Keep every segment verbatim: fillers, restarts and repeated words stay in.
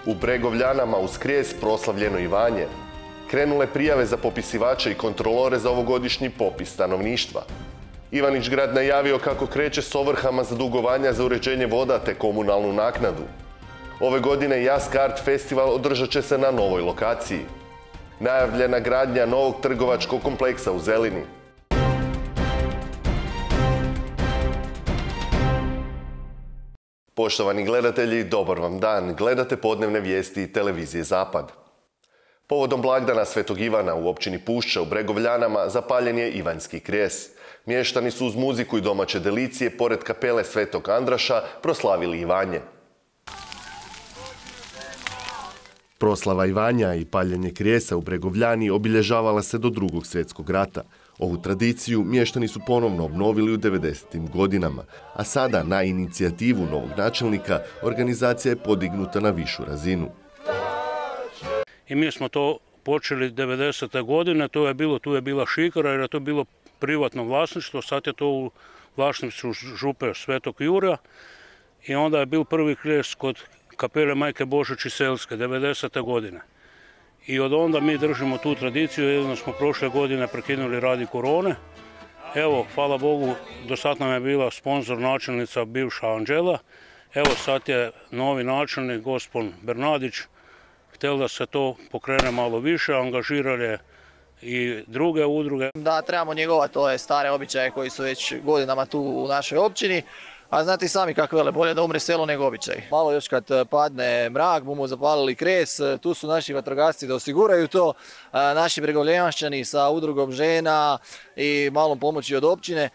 U Bregovljanama uz Kries proslavljeno Ivanje. Krenule prijave za popisivače i kontrolore za ovogodišnji popis stanovništva. Ivanić grad najavio kako kreće s ovrhama za dugovanja za uređenje voda te komunalnu naknadu. Ove godine Jazzkart festival održat će se na novoj lokaciji. Najavljena gradnja novog trgovačkog kompleksa u Zelini. Poštovani gledatelji, dobar vam dan. Gledate podnevne vijesti televizije Zapad. Povodom blagdana Svetog Ivana u općini Pušća u Bregovljanama zapaljen je Ivanjski kries. Mještani su uz muziku i domaće delicije pored kapele Svetog Andraša proslavili Ivanje. Proslava Ivanja i paljenje krijesa u Bregovljani obilježavala se do Drugog svjetskog rata. Ovu tradiciju mještani su ponovno obnovili u devedesetim godinama, a sada na inicijativu novog načelnika organizacija je podignuta na višu razinu. I mi smo to počeli devedesete godine, to je bilo, tu je bila šikara jer je to bilo privatno vlasništvo, sad je to u vlasništvu župe Svetog Jurja i onda je bil prvi kries kod kapele Majke Božić Selske devedesete godine. I od onda mi držimo tu tradiciju, jedino smo prošle godine prekinuli radi korone. Evo, hvala Bogu, do sad nam je bila sponzor načelnica bivša Anđela. Evo sad je novi načelnik, gospodin Bernadić, htjel da se to pokrene malo više, angažirali i druge udruge. Da, trebamo njegovati ove stare običaje koji su već godinama tu u našoj općini. A znate i sami kako vele, bolje da umre selo nego običaj. Malo još kad padne mrak, bumo zapalili kres, tu su naši vatrogasci da osiguraju to. Naši bregovljanšćani sa udrugom žena i malom pomoći od općine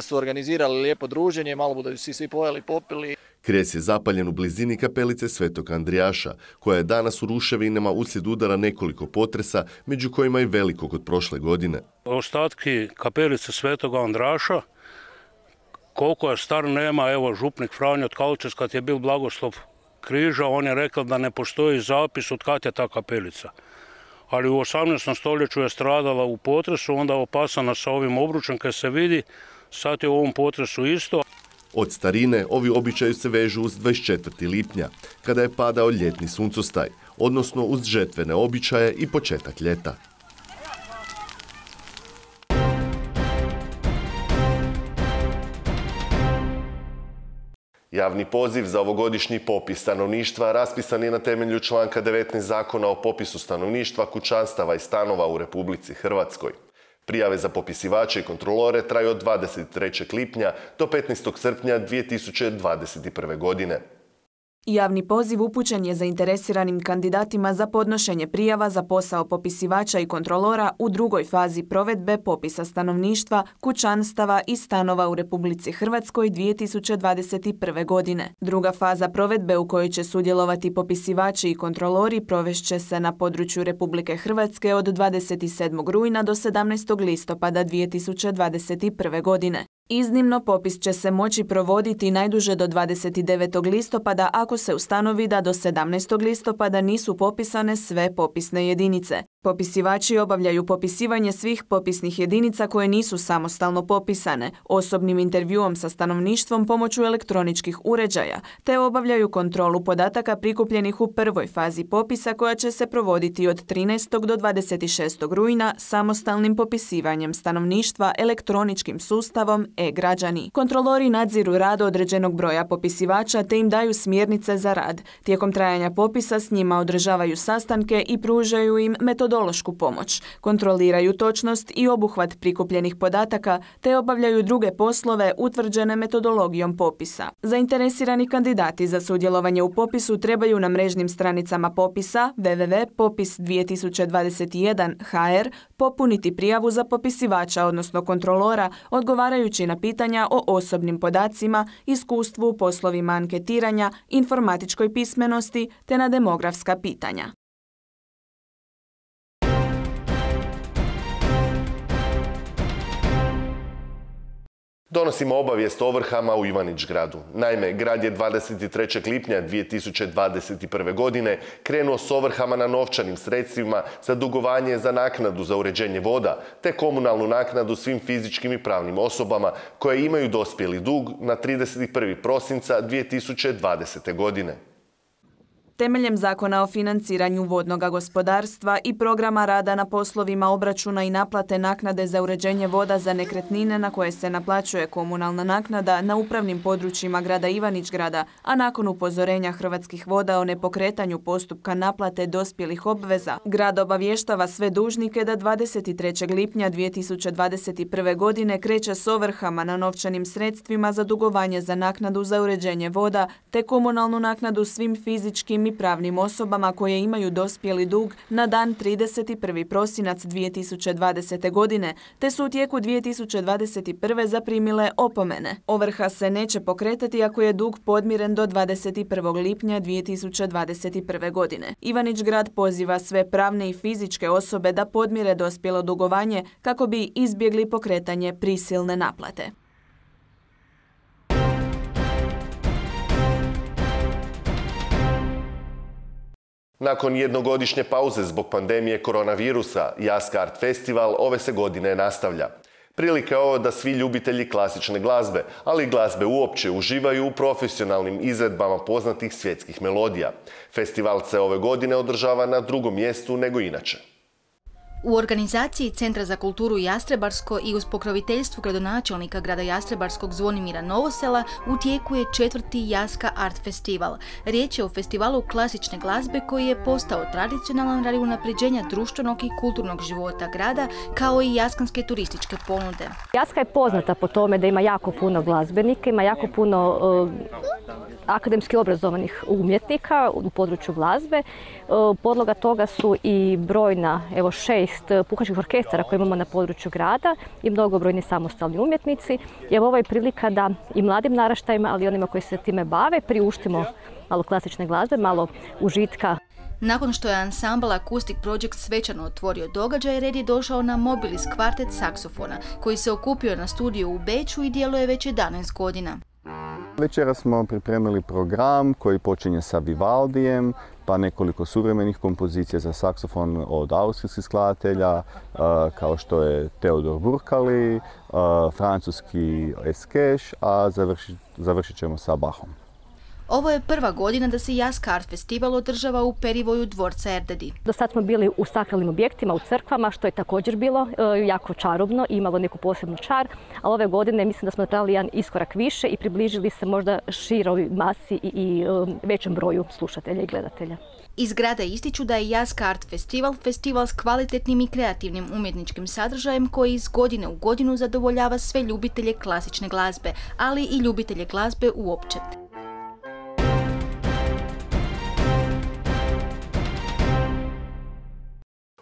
su organizirali lijepo druženje, malo budu svi, svi pojeli, popili. Kries je zapaljen u blizini kapelice Svetog Andrijaša, koja je danas u ruševinama uslijed udara nekoliko potresa, među kojima i velikog od prošle godine. Ostatki kapelice Svetog Andraša, koliko je star nema, evo župnik Franjo Tkalčec, kad je bil blagoslov križa, on je rekao da ne postoji zapis od kad je ta kapelica. Ali u osamnaestom stoljeću je stradala u potresu, onda opasana sa ovim obručem kad se vidi, sad je u ovom potresu isto. Od starine ovi običaji se vežu uz dvadeset četvrtog lipnja, kada je padao ljetni suncostaj, odnosno uz žetvene običaje i početak ljeta. Javni poziv za ovogodišnji popis stanovništva raspisan je na temelju članka devetnaest Zakona o popisu stanovništva, kućanstava i stanova u Republici Hrvatskoj. Prijave za popisivače i kontrolore traju od dvadeset trećeg lipnja do petnaestog srpnja dvije tisuće dvadeset prve. godine. Javni poziv upućen je zainteresiranim kandidatima za podnošenje prijava za posao popisivača i kontrolora u drugoj fazi provedbe popisa stanovništva, kućanstava i stanova u Republici Hrvatskoj dvije tisuće dvadeset prve. godine. Druga faza provedbe u kojoj će sudjelovati popisivači i kontrolori provešće se na području Republike Hrvatske od dvadeset sedmog rujna do sedamnaestog listopada dvije tisuće dvadeset prve. godine. Iznimno, popis će se moći provoditi najduže do dvadeset devetog listopada ako se ustanovi da do sedamnaestog listopada nisu popisane sve popisne jedinice. Popisivači obavljaju popisivanje svih popisnih jedinica koje nisu samostalno popisane, osobnim intervjuom sa stanovništvom pomoću elektroničkih uređaja, te obavljaju kontrolu podataka prikupljenih u prvoj fazi popisa koja će se provoditi od trinaestog do dvadeset šestog rujna samostalnim popisivanjem stanovništva elektroničkim sustavom e-građani. Kontrolori nadziru rad određenog broja popisivača te im daju smjernice za rad. Tijekom trajanja popisa s njima održavaju sastanke i pružaju im metodološku pomoć. Kontroliraju točnost i obuhvat prikupljenih podataka te obavljaju druge poslove utvrđene metodologijom popisa. Zainteresirani kandidati za sudjelovanje u popisu trebaju na mrežnim stranicama popisa w w w tačka popis dvije tisuće dvadeset jedan točka h r popuniti prijavu za popisivača, odnosno kontrolora, odgovarajući na pitanja o osobnim podacima, iskustvu u poslovima anketiranja, informatičkoj pismenosti te na demografska pitanja. Donosimo obavijest o ovrhama u Ivanić gradu. Naime, grad je dvadeset trećeg lipnja dvije tisuće dvadeset prve. godine krenuo s ovrhama na novčanim sredstvima za dugovanje za naknadu za uređenje voda, te komunalnu naknadu svim fizičkim i pravnim osobama koje imaju dospjeli dug na trideset prvog prosinca dvije tisuće dvadesete. godine. Temeljem Zakona o financiranju vodnog gospodarstva i programa rada na poslovima obračuna i naplate naknade za uređenje voda za nekretnine na koje se naplaćuje komunalna naknada na upravnim područjima grada Ivanić-Grada, a nakon upozorenja Hrvatskih voda o nepokretanju postupka naplate dospjelih obveza, grad obavještava sve dužnike da dvadeset trećeg lipnja dvije tisuće dvadeset prve. godine kreće s ovrhama na novčanim sredstvima za dugovanje za naknadu za uređenje voda te komunalnu naknadu svim fizičkim i pravnim osobama koje imaju dospjeli dug na dan trideset prvi prosinac dvije tisuće dvadesete. godine, te su u tijeku dvije tisuće dvadeset prve. zaprimile opomene. Ovrha se neće pokretati ako je dug podmiren do dvadeset prvog lipnja dvije tisuće dvadeset prve. godine. Ivanić-Grad poziva sve pravne i fizičke osobe da podmire dospjelo dugovanje kako bi izbjegli pokretanje prisilne naplate. Nakon jednogodišnje pauze zbog pandemije koronavirusa, Jaska Art Festival ove se godine nastavlja. Prilika je ovo da svi ljubitelji klasične glazbe, ali i glazbe uopće, uživaju u profesionalnim izvedbama poznatih svjetskih melodija. Festival se ove godine održava na drugom mjestu nego inače. U organizaciji Centra za kulturu Jastrebarsko i uz pokroviteljstvo gradonačelnika grada Jastrebarskog Zvonimira Novosela u tijeku je četvrti Jaska Art Festival. Riječ je o festivalu klasične glazbe koji je postao tradicionalan radi unapređenja društvenog i kulturnog života grada, kao i jaskanske turističke ponude. Jaska je poznata po tome da ima jako puno glazbenika, ima jako puno uh, akademski obrazovanih umjetnika u području glazbe. Uh, podloga toga su i brojna, evo šest puhačkih orkestara koje imamo na području grada i mnogobrojni samostalni umjetnici. I evo ovo je prilika da i mladim naraštajima, ali i onima koji se time bave, priuštimo malo klasične glazbe, malo užitka. Nakon što je ansambl Acoustic Project svečano otvorio događaj, red je došao na Mobilis kvartet saksofona, koji se okupio na studiju u Beču i djeluje već jedanaest godina. Večeras smo pripremili program koji počinje sa Vivaldijem, pa nekoliko suvremenih kompozicija za saksofon od austrijskih skladatelja, kao što je Teodor Burkali, francuski Eskeš, a završit, završit ćemo sa Bachom. Ovo je prva godina da se Jaska Art Festival održava u perivoju dvorca Erdedi. Do sad smo bili u sakralnim objektima, u crkvama, što je također bilo e, jako čarobno i imalo neku posebnu čar, ali ove godine mislim da smo napravili jedan iskorak više i približili se možda široj masi i, i e, većem broju slušatelja i gledatelja. Iz grada ističu da je Jaska Art Festival festival s kvalitetnim i kreativnim umjetničkim sadržajem koji iz godine u godinu zadovoljava sve ljubitelje klasične glazbe, ali i ljubitelje glazbe uopće.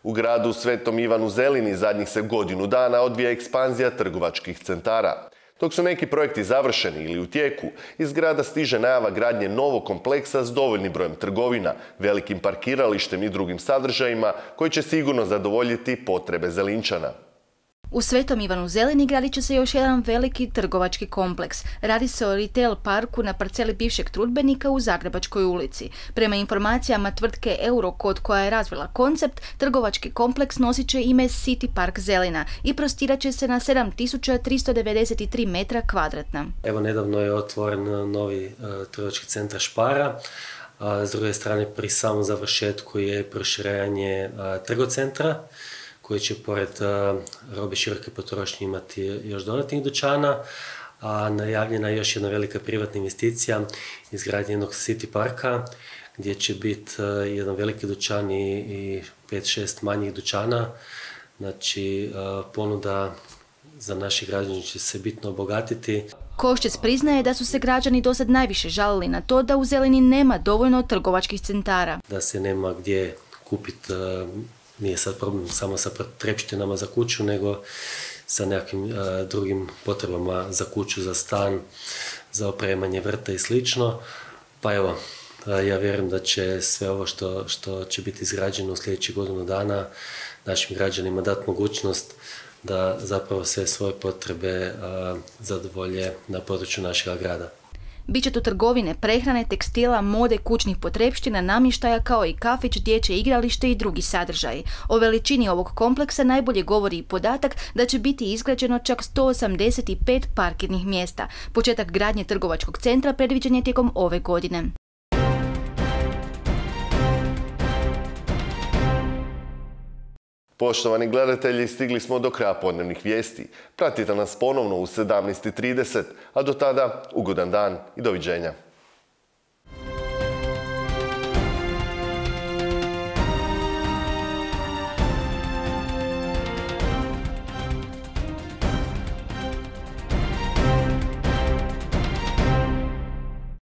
U gradu Svetom Ivanu Zelini zadnjih se godinu dana odvija ekspanzija trgovačkih centara. Dok su neki projekti završeni ili u tijeku, iz grada stiže najava gradnje novog kompleksa s dovoljnim brojem trgovina, velikim parkiralištem i drugim sadržajima koji će sigurno zadovoljiti potrebe Zelinčana. U Svetom Ivanu Zelini gradit će se još jedan veliki trgovački kompleks. Radi se o retail parku na parceli bivšeg trudbenika u Zagrebačkoj ulici. Prema informacijama tvrtke Eurocode koja je razvila koncept, trgovački kompleks nosit će ime City Park Zelina i prostirat će se na sedam tisuća tristo devedeset tri metra kvadratna. Evo, nedavno je otvoren novi uh, trgovački centar Špara. A s druge strane, pri samom završetku je proširenje uh, trgocentra, koji će pored uh, robe široke potrošnje imati još dodatnih dućana, a najavljena je još jedna velika privatna investicija, izgradnja jednog City parka, gdje će biti uh, jedan veliki dućan i, i pet šest manjih dućana. Znači, uh, ponuda za naši građani će se bitno obogatiti. Koščec priznaje da su se građani dosad najviše žalili na to da u Zelini nema dovoljno trgovačkih centara. Da se nema gdje kupiti, uh, nije sad problem samo sa potrepštinama za kuću, nego sa nekakvim uh, drugim potrebama za kuću, za stan, za opremanje vrta i slično. Pa evo, uh, ja vjerujem da će sve ovo što, što će biti izgrađeno u sljedećih godinu dana našim građanima dati mogućnost da zapravo sve svoje potrebe uh, zadovolje na području našeg grada. Biće tu trgovine, prehrane, tekstila, mode, kućnih potrepština, namještaja kao i kafić, dječje igralište i drugi sadržaji. O veličini ovog kompleksa najbolje govori i podatak da će biti izgrađeno čak sto osamdeset pet parkirnih mjesta. Početak gradnje trgovačkog centra predviđen je tijekom ove godine. Poštovani gledatelji, stigli smo do kraja podnevnih vijesti. Pratite nas ponovno u sedamnaest i trideset, a do tada ugodan dan i doviđenja.